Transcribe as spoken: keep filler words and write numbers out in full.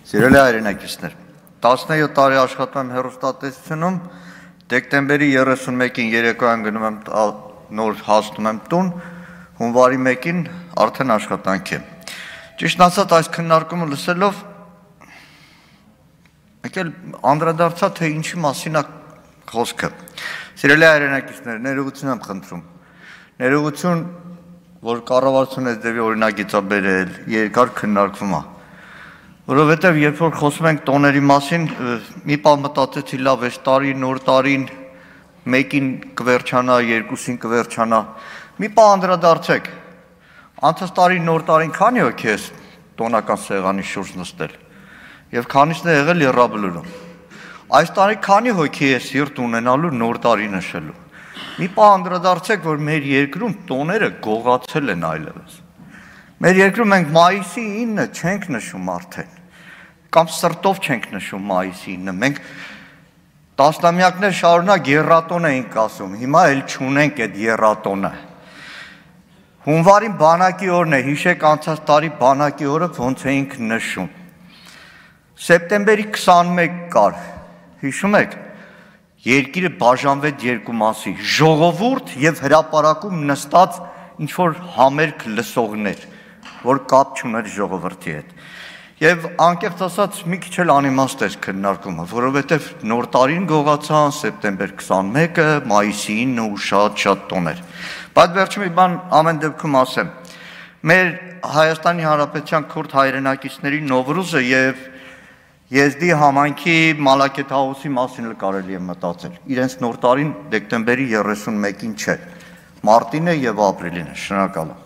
Սիրելի հայրենակիցներ, տասնյոթ տարի աշխատում եմ հեռուստատեսությունում, դեկտեմբերի երեսունմեկին երեկոյան գնում եմ նոր հասնում եմ տուն, հունվարի մեկին արդեն աշխատանք եմ։ Ճիշտ ասած, այս քննարկումը լսելով եկել անդրադարձա, թե ինչի մասին է խոսքը։ Սիրելի հայրենակիցներ, ներողություն եմ խնդրում։ Ներողություն, որ կառավարությունը դեպի օրինագիծ է բերել, երկար քննարկվում է։ Որովհետև երբ որ խոսում ենք տոների մասին, մի պահ մտածեցի լավ, այս տարի, նոր տարին, մեկին կվերջանա, երկուսին կվերջանա, մի պահ անդրադարձեք, անցած տարի նոր տարին քանի հոգի ես տոնական սեղանի շուրջ նստել, և քանիսն է եղել եռաբլուրում, այս տարի քանի հոգի է սիրտ ունենալու նոր տարի նշելու, մի պահ անդրադարձեք, որ մեր երկրում տոները գողացել են այլևս, մեր երկրում մենք մայիսի ինը չենք նշում արդեն, կամ սրտով չենք նշում մայիսի ինը, մենք տասնամյակներ շարունակ եռատոն էինք ասում, հիմա էլ չունենք այդ եռատոնը։ Հունվարին բանակի օրն է, հիշեք անցած տարի բանակի օրը ոնց էինք նշում։ Սեպտեմբերի քսանմեկ կար, հիշում եք, երկիրը բաժանվեց երկու մասի, ժողովուրդ և հրապարակում նստած ինչ-որ համերգ լսողներ, որ կապ չուներ ժողովրդի հետ։ Եվ անկեղծ ասած մի քիչ էլ անիմաստ էր քննարկումը, որովհետև նոր տարին գողացան, սեպտեմբեր քսանմեկը, մայիսի ինը ու շատ-շատ տոներ։ Բայց վերջում մի բան ամեն դեպքում ասեմ։ Մեր Հայաստանի Հանրապետության քուրդ հայրենակիցների Նովրուզը և Եզդի համայնքի Մալաքեթ հաուսի մասին էլ կարելի է մտածել։ Իրենց նոր տարին դեկտեմբերի երեսունմեկին չէ, մարտին է և ապրիլին է, շնորհակալ եմ։